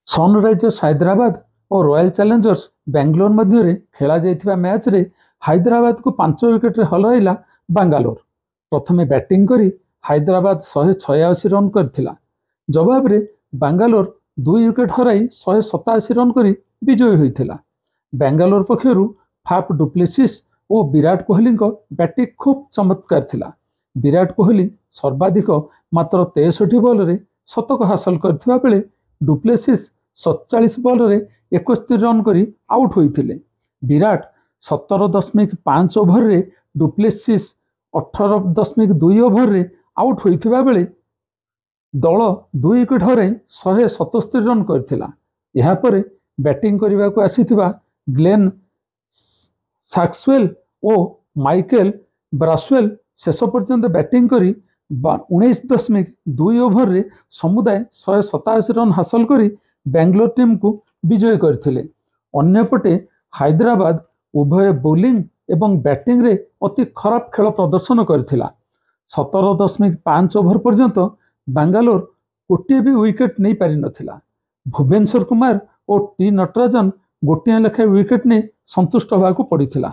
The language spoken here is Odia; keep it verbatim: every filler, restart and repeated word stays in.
ସନରାଇଜର୍ସ ହାଇଦ୍ରାବାଦ ଓ ରୟାଲ ଚ୍ୟାଲେଞ୍ଜର୍ସ ବାଙ୍ଗାଲୋର ମଧ୍ୟରେ ଖେଳାଯାଇଥିବା ମ୍ୟାଚ୍ରେ ହାଇଦ୍ରାବାଦକୁ ପାଞ୍ଚ ୱିକେଟରେ ହରାଇଲା ବାଙ୍ଗାଲୋର। ପ୍ରଥମେ ବ୍ୟାଟିଂ କରି ହାଇଦ୍ରାବାଦ ଶହେ ଛୟାଅଶୀ ରନ୍ କରିଥିଲା। ଜବାବରେ ବାଙ୍ଗାଲୋର ଦୁଇ ୱିକେଟ ହରାଇ ଶହେ ସତାଅଶୀ ରନ୍ କରି ବିଜୟୀ ହୋଇଥିଲା। ବାଙ୍ଗାଲୋର ପକ୍ଷରୁ ଫାଫ୍ ଡୁପ୍ଲେସିସ୍ ଓ ବିରାଟ କୋହଲିଙ୍କ ବ୍ୟାଟିଂ ଖୁବ୍ ଚମତ୍କାର ଥିଲା। ବିରାଟ କୋହଲି ସର୍ବାଧିକ ମାତ୍ର ତେଷଠି ବଲରେ ଶତକ ହାସଲ କରିଥିବା ବେଳେ ଡୁପ୍ଲେସିସ୍ ସତଚାଳିଶ ବଲରେ ଏକସ୍ତରୀ ରନ୍ କରି ଆଉଟ୍ ହୋଇଥିଲେ। ବିରାଟ ସତର ଦଶମିକ ପାଞ୍ଚ ଓଭରରେ, ଡୁପ୍ଲେସିସ୍ ଅଠର ଦଶମିକ ଦୁଇ ଓଭରରେ ଆଉଟ୍ ହୋଇଥିବା ବେଳେ ଦଳ ଦୁଇ ୱିକେଟ ହରାଇ ଶହେ ସତସ୍ତରୀ ରନ୍ କରିଥିଲା। ଏହାପରେ ବ୍ୟାଟିଂ କରିବାକୁ ଆସିଥିବା ଗ୍ଲେନ୍ ମ୍ୟାକ୍ସୱେଲ୍ ଓ ମାଇକେଲ ବ୍ରାସୱେଲ୍ ଶେଷ ପର୍ଯ୍ୟନ୍ତ ବ୍ୟାଟିଂ କରି ଉଣେଇଶ ଦଶମିକ ଦୁଇ ଓଭରରେ ସମୁଦାୟ ଶହେ ସତାଅଶୀ ରନ୍ ହାସଲ କରି ବାଙ୍ଗାଲୋର ଟିମ୍କୁ ବିଜୟୀ କରିଥିଲେ। ଅନ୍ୟପଟେ ହାଇଦ୍ରାବାଦ ଉଭୟ ବୋଲିଂ ଏବଂ ବ୍ୟାଟିଂରେ ଅତି ଖରାପ ଖେଳ ପ୍ରଦର୍ଶନ କରିଥିଲା। ସତର ଦଶମିକ ପାଞ୍ଚ ଓଭର ପର୍ଯ୍ୟନ୍ତ ବାଙ୍ଗାଲୋର ଗୋଟିଏ ବି ୱିକେଟ୍ ନେଇପାରିନଥିଲା। ଭୁବନେଶ୍ୱର କୁମାର ଓ ଟି ନଟରାଜନ ଗୋଟିଏ ଲେଖାଏଁ ୱିକେଟ୍ ନେଇ ସନ୍ତୁଷ୍ଟ ହେବାକୁ ପଡ଼ିଥିଲା।